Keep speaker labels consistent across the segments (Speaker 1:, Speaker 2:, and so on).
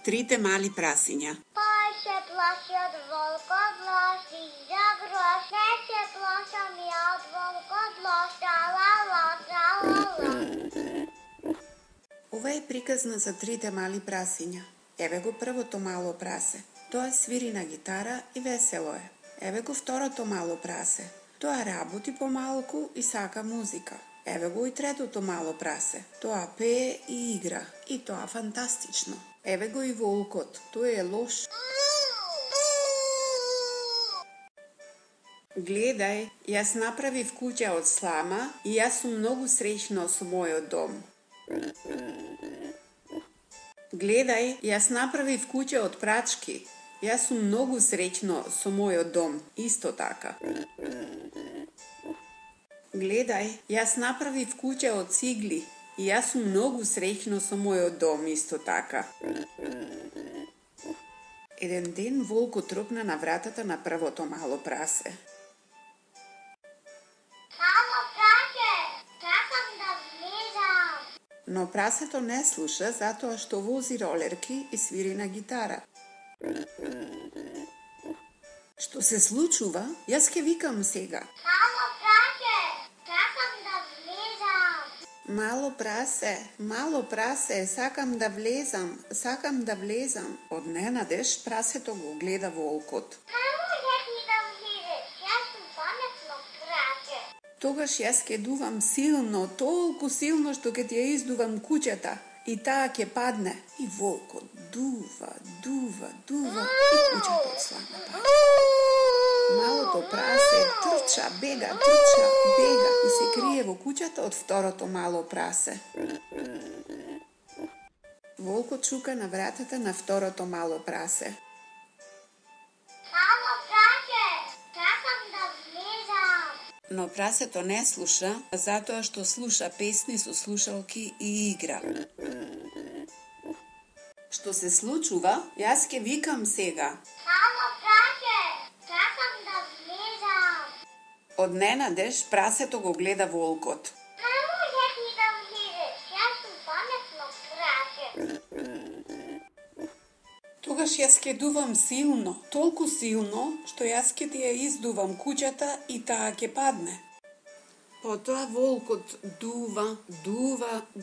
Speaker 1: Трите мали прасиња.
Speaker 2: Пај се плаши од волкот лош, за грош, не се плашам ја од волкот лош, тра-ла-ла, тра-ла-ла.
Speaker 1: Ова е приказна за трите мали прасиња. Еве го првото мало прасе. Тоа свири на гитара и весело е. Еве го второто мало прасе. Тоа работи помалку и сака музика. Еве го и третото мало прасе. Тоа пее и игра. И тоа фантастично. Еве го и волкот. Тој е лош. Гледај, јас направив куќа од слама и јас сум многу среќно со мојот дом. Гледај, јас направив куќа од прачки. Јас сум многу среќно со мојот дом, исто така. Гледај, јас направив куќа од цигли и јас сум многу среќно со мојот дом, исто така. Еден ден волкот тропна на вратата на првото мало прасе.
Speaker 2: Мало прасе, сакам да влезам.
Speaker 1: Но прасето не слуша затоа што вози ролерки и свири на гитара. Што се случува? Јас ке викам сега.
Speaker 2: Мало прасе, сакам да влезам.
Speaker 1: Мало прасе, сакам да влезам. Од ненадеж прасето го гледа волкот.
Speaker 2: Не можеш ни да влезеш, јас сум паметно прасе.
Speaker 1: Тогаш јас ке дувам силно, толку силно што ке ти ја издувам куќата и таа ќе падне. И волкот дува и куќата од слама паѓа. Малото прасе трча, бега и се крие во куќата од второто мало прасе. Волкот чука на вратата на второто мало прасе.
Speaker 2: Мало прасе, сакам да влезам.
Speaker 1: Но прасето не слуша, затоа што слуша песни со слушалки и игра. Што се случува? Јас ке викам сега.
Speaker 2: Мало прасе, сакам да влезам.
Speaker 1: Од ненадеж прасето го гледа волкот.
Speaker 2: Не можеш ни да влезеш, јас сум паметно прасе.
Speaker 1: Тогаш јас ке дувам силно, толку силно, што јас ке ти ја издувам куќата и таа ке падне. Потоа волкот дува и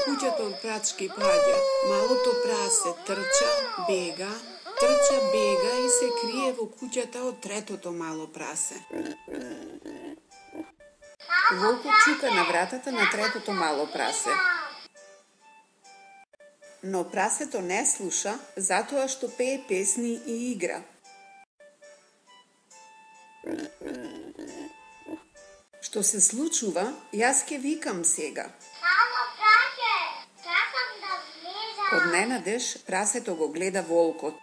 Speaker 1: куќата од прачки паѓа. Малото прасе трча, бега и се крие во куќата од третото мало прасе. Волкот чука на вратата на третото мало прасе. Но прасето не слуша, затоа што пее песни и игра. Што се случува? Јас ке викам сега.
Speaker 2: Мало прасе, сакам да влезам.
Speaker 1: Од ненадеж прасето го гледа волкот.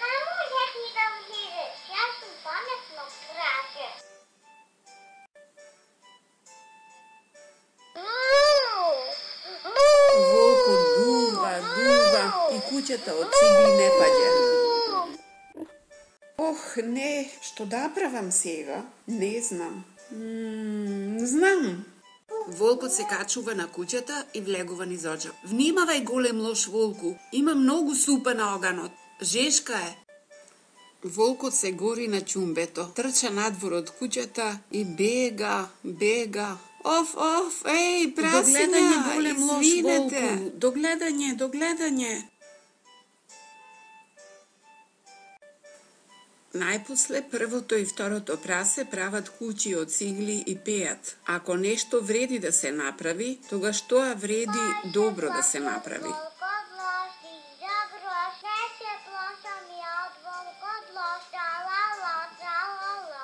Speaker 2: Не можеш ни да влезеш, јас сум паметно прасе.
Speaker 1: Волкот дува и куќата од цигли не паѓа. Ох, не, што да правам сега? Не знам. Знам. Волкот се качува на куќата и влегува низ оџак. Внимавај, голем лош волку, има многу супа на оганот. Жешка е. Волкот се гори на ќумбето, трча надвор од куќата и бега. Оф, еј, прасиња, голем лош извинете. волку. Догледање. Најпосле првото и второто прасе прават куќи од цигли и пеат. Ако нешто вреди да се направи, тогаш тоа вреди добро да се направи.
Speaker 2: Волкот лош, за грош, не се плашам ја од волкот лош, тра-ла-ла, тра-ла-ла.